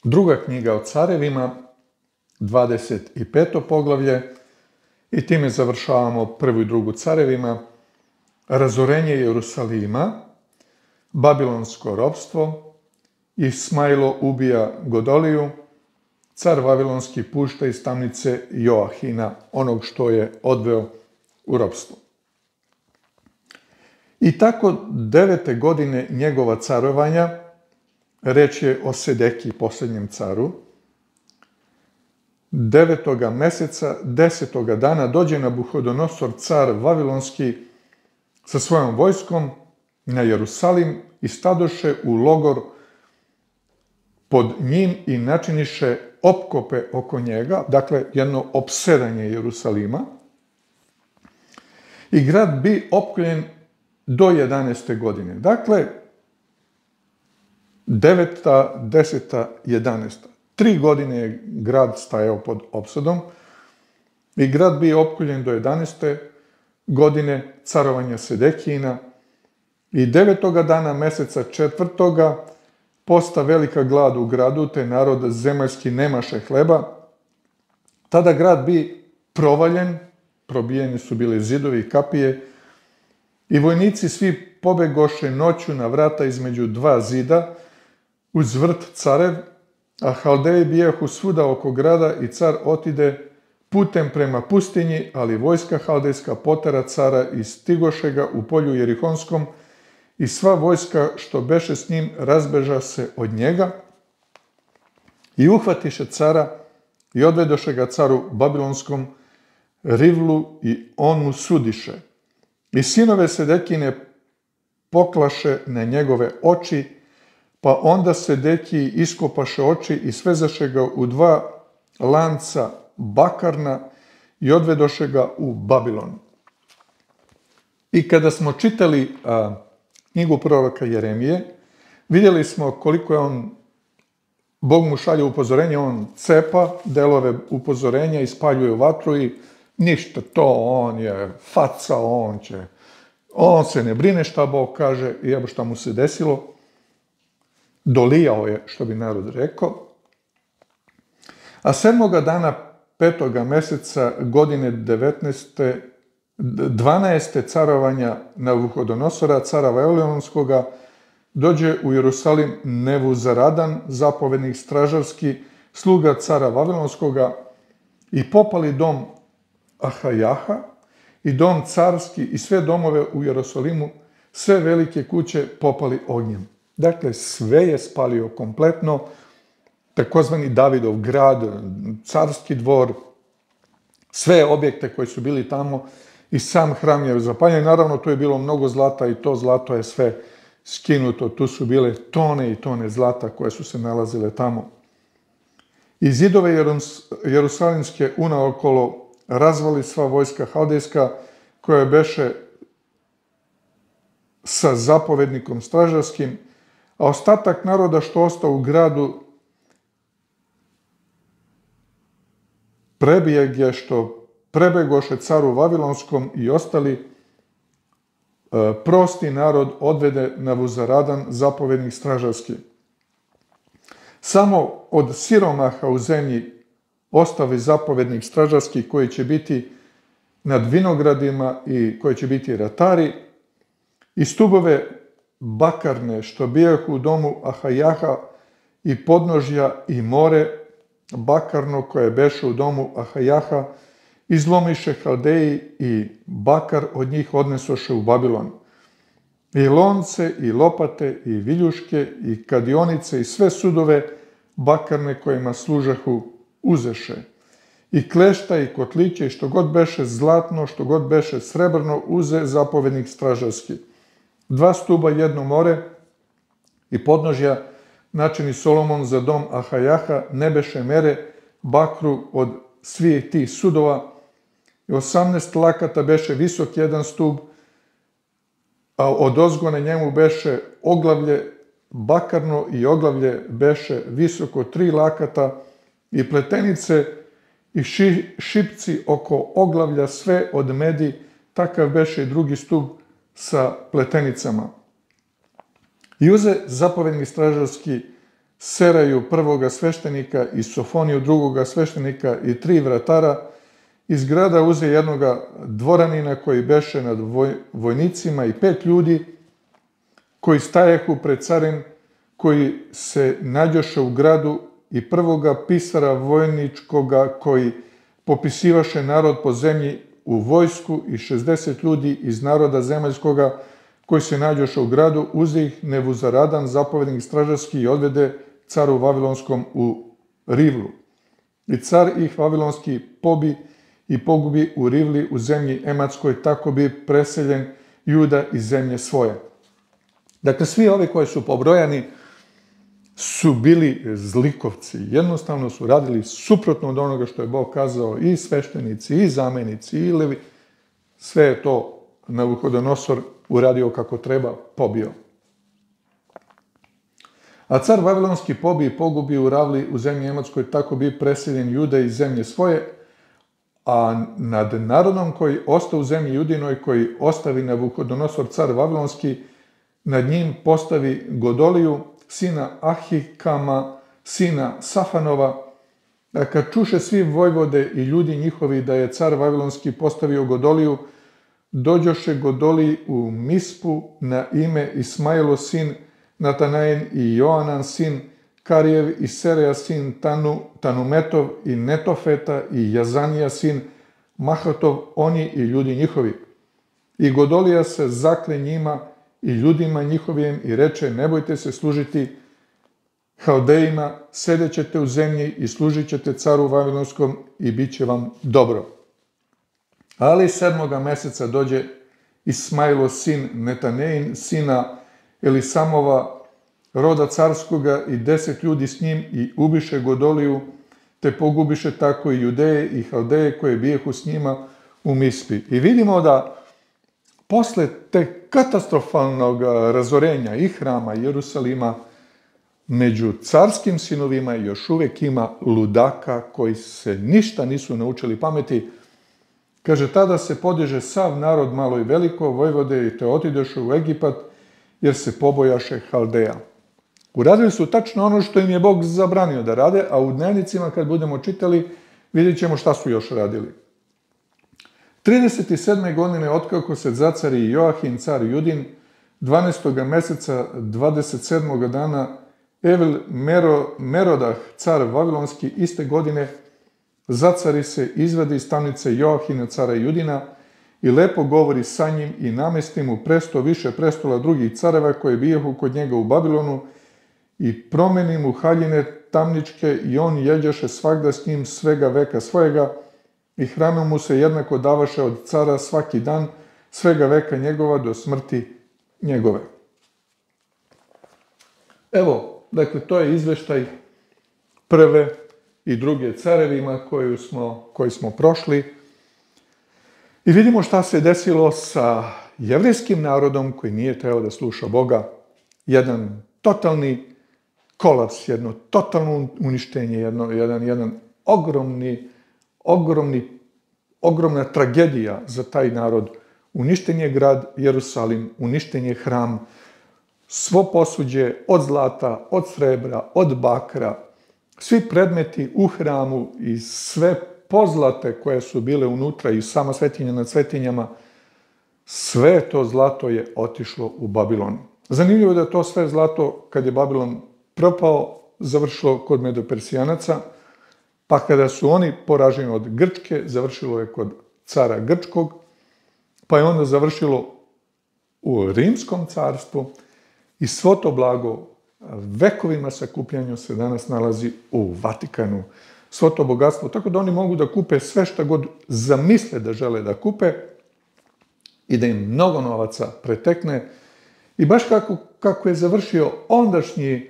Druga knjiga o carevima, 25. poglavlje, i time završavamo prvu i drugu carevima. Razorenje Jerusalima, babilonsko ropstvo, Ismailo ubija Godoliju, car vavilonski pušta iz tamnice Joahina, onog što je odveo u ropstvo. I tako 9. godine njegova carovanja, reč je o Sedekiji, posljednjem caru, 9. meseca, 10. dana dođe Nabuhodonosor, car vavilonski, sa svojom vojskom na Jerusalim i stadoše u logor pod njim i načiniše opkope oko njega, dakle jedno opsedanje Jerusalima. I grad bi opkoljen do 11. godine. Dakle, 9., 10., 11. 3 godine je grad stajao pod opsadom i grad bi opkoljen do 11. godine carovanja Sedekijina i 9. dana meseca 4. posta velika glad u gradu, te narod zemaljski nemaše hleba. Tada grad bi provaljen, probijeni su bili zidovi i kapije, i vojnici svi pobegoše noću na vrata između dva zida, uz vrt carev, a Haldeji bijahu svuda oko grada i car otide putem prema pustinji, ali vojska haldejska potera cara i stigoše ga u polju Jerihonskom i sva vojska što beše s njim razbeža se od njega i uhvatiše cara i odvedoše ga caru Babilonskom Rivlu i on mu sudiše. I sinove Sedekine poklaše na njegove oči, pa onda Sedekiji iskopaše oči i svezaše ga u 2 lanca bakarna i odvedoše ga u Babilon. I kada smo čitali knjigu proroka Jeremije, vidjeli smo koliko je Bog mu šalje upozorenje, on cepa delove upozorenja i spaljuje u vatru i ništa, to on je faca, on se ne brine šta Bog kaže i evo šta mu se desilo. Dolijao je, što bi narod rekao. A 7. dana 5. meseca godine 12. carovanja Nabuhodonosora, cara Vavilonskoga, dođe u Jerusalim Nebuzaradan, zapovednik stražarski, sluga cara Vavilonskoga, i popali dom Ahajaha i dom carski i sve domove u Jerusalimu, sve velike kuće popali ognjem. Dakle, sve je spalio kompletno, takozvani Davidov grad, carski dvor, sve objekte koji su bili tamo i sam hram je zapaljen. Naravno, tu je bilo mnogo zlata i to zlato je sve skinuto. Tu su bile tone i tone zlata koje su se nalazile tamo. I zidove jerusalimske unaokolo razvali sva vojska haldejska koja beše sa zapovednikom stražarskim, a ostatak naroda što ostao u gradu prebijeg što prebegoše caru Vavilonskom i ostali prosti narod odvede Nebuzaradan, zapovednik stražarski. Samo od siromaha u zemlji ostavi zapovednik stražarski koji će biti nad vinogradima i koji će biti ratari, i stubove bakarne što bijahu u domu Ahajaha i podnožja i more bakarno koje beše u domu Ahajaha izlomiše Haldeji i bakar od njih odnesoše u Babilon. I lonce i lopate i viljuške i kadionice i sve sudove bakarne kojima služahu uzeše. I klešta i kotliće i što god beše zlatno, što god beše srebrno uze zapovednik stražarski. 2 stuba, 1 more i podnožja načini Solomon za dom Ahajaha ne beše mere bakru od svih tih sudova i 18 lakata beše visok 1 stub, a od ozgone njemu beše oglavlje bakarno i oglavlje beše visoko 3 lakata i pletenice i šipci oko oglavlja sve od medi, takav beše i drugi stub sa pletenicama. I uze zapovednik stražarski Seraju prvoga sveštenika i Sofoniju drugoga sveštenika i 3 vratara, iz grada uze jednoga dvoranina koji beše nad vojnicima i 5 ljudi koji stajehu pred carem, koji se nađoše u gradu, i prvoga pisara vojničkoga koji popisivaše narod po zemlji u vojsku, i 60 ljudi iz naroda zemaljskoga koji se nađoše u gradu, uze ih Nebuzaradan, zapovednik stražarski, i odvede caru Vavilonskom u Rivlu. I car ih Vavilonski pobi i pogubi u Rivli u zemlji Ematskoj, tako bi preseljen Juda iz zemlje svoje. Dakle, svi ovi koji su pobrojani su bili zlikovci. Jednostavno su radili suprotno od onoga što je Bog kazao, i sveštenici, i zamenici, i levi. Sve je to Navuhodonosor uradio kako treba, pobio. A car Vavilonski pobi i pogubi u Ravli u zemlji Ematskoj, tako bi preseljen Juda iz zemlje svoje, a nad narodom koji ostao u zemlji Judinoj, koji ostavi Navuhodonosor car Vavilonski, nad njim postavi Godoliju, sina Ahikama, sina Safanova. A kad čuše svi vojvode i ljudi njihovi da je car Vavilonski postavio Godoliju, dođoše Godoliji u Mispu na ime Ismailo sin Natanajen i Joanan sin Karijev i Sereja sin Tanumetov i Netofeta i Jazanija sin Mahatov, oni i ljudi njihovi. I Godolija se zakle njima i ljudima njihovim i reče: ne bojte se služiti Haldejima, sedećete u zemlji i služit ćete caru Vavilonskom i bit će vam dobro. Ali 7. meseca dođe Ismailo sin Netanein, sina Elisamova, roda carskoga, i 10 ljudi s njim, i ubiše Godoliju, te pogubiše tako i Judeje i Haldeje koje bijehu s njima u Mispi. I vidimo da posle te katastrofalnog razorenja i hrama i Jerusalima, među carskim sinovima još uvijek ima ludaka koji se ništa nisu naučili pameti. Kaže, tada se podiže sav narod, malo i veliko, vojvode, i te otidoše u Egipat, jer se pobojaše Haldeja. Uradili su tačno ono što im je Bog zabranio da rade, a u dnevnicima kad budemo čitali vidjet ćemo šta su još radili. 37. godine otkako se zacari Joahim car Judin, 12. meseca 27. dana Evil Merodah car Vavilonski iste godine zacari se, izvadi iz tamnice Joahina cara Judina i lepo govori sa njim i namesti mu presto više prestola drugih careva koji bijehu kod njega u Babilonu i promeni mu haljine tamničke i on jeđaše svagda s njim svega veka svojega i hranu mu se jednako davaše od cara svaki dan svega veka njegova do smrti njegove. Evo, dakle, to je izveštaj prve i druge carevima koji smo prošli. I vidimo šta se desilo sa jevrejskim narodom koji nije trebao da sluša Boga. Jedan totalni kolaps, jedno totalno uništenje, jedan ogromna tragedija za taj narod. Uništen je grad Jerusalim, uništen je hram, svo posuđe od zlata, od srebra, od bakra, svi predmeti u hramu i sve pozlate koje su bile unutra i sama svetinja nad svetinjama, sve to zlato je otišlo u Babilon. Zanimljivo je da to sve zlato, kad je Babilon propao, završilo kod Medopersijanaca, pa kada su oni poraženi od Grčke, završilo je kod cara Grčkog, pa je onda završilo u Rimskom carstvu i svo to blago vekovima sakupljanja se danas nalazi u Vatikanu. Svo to bogatstvo, tako da oni mogu da kupe sve šta god zamisle da žele da kupe i da im mnogo novaca pretekne. I baš kako je završio ondašnji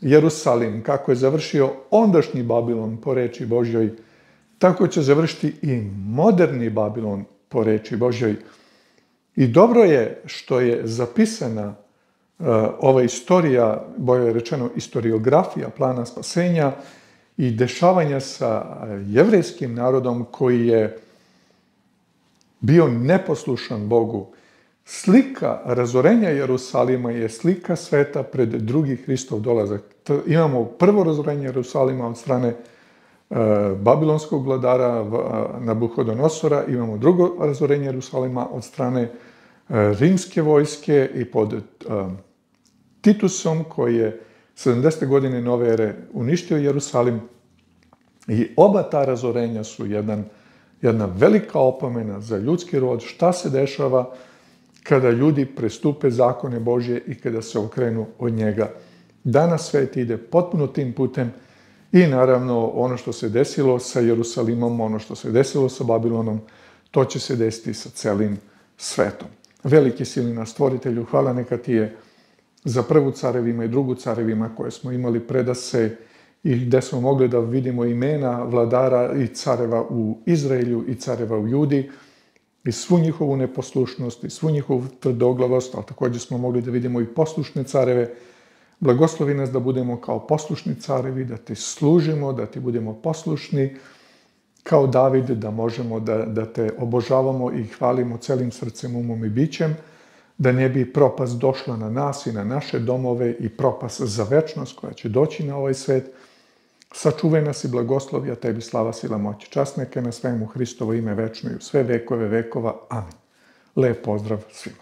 Jerusalim, kako je završio ondašnji Babilon po reči Božjoj, tako će završiti i moderni Babilon po reči Božjoj. I dobro je što je zapisana ova istorija, bolje rečeno istoriografija plana spasenja i dešavanja sa jevrejskim narodom koji je bio neposlušan Bogu, Slika razorenja Jerusalima je slika sveta pred drugi Hristov dolazak. Imamo prvo razorenje Jerusalima od strane babilonskog vladara Nabuhodonosora, imamo drugo razorenje Jerusalima od strane rimske vojske i pod Titusom koji je 70. godine nove ere uništio Jerusalim. I oba ta razorenja su jedna velika opomena za ljudski rod, šta se dešava kada ljudi prestupe zakone Božje i kada se okrenu od njega. Danas svet ide potpuno tim putem i naravno ono što se desilo sa Jerusalimom, ono što se desilo sa Babilonom, to će se desiti sa celim svetom. Veliki silni naš Stvoritelju, hvala neka ti je za prvu carevima i drugu carevima koje smo imali predase i gde smo mogli da vidimo imena vladara i careva u Izraelju i careva u Judi i svu njihovu neposlušnost i svu njihovu tvrdoglavost, ali također smo mogli da vidimo i poslušne careve. Blagoslovi nas da budemo kao poslušni carevi, da ti služimo, da ti budemo poslušni kao David, da možemo da te obožavamo i hvalimo celim srcem, umom i bićem, da ne bi propast došla na nas i na naše domove i propast za večnost koja će doći na ovaj svet. Sačuvaj nas i blagoslovi, a tebi slava, sila, moć. Čast neka na svemu Hristovo ime večno i u sve vekove vekova. Amin. Lep pozdrav svima.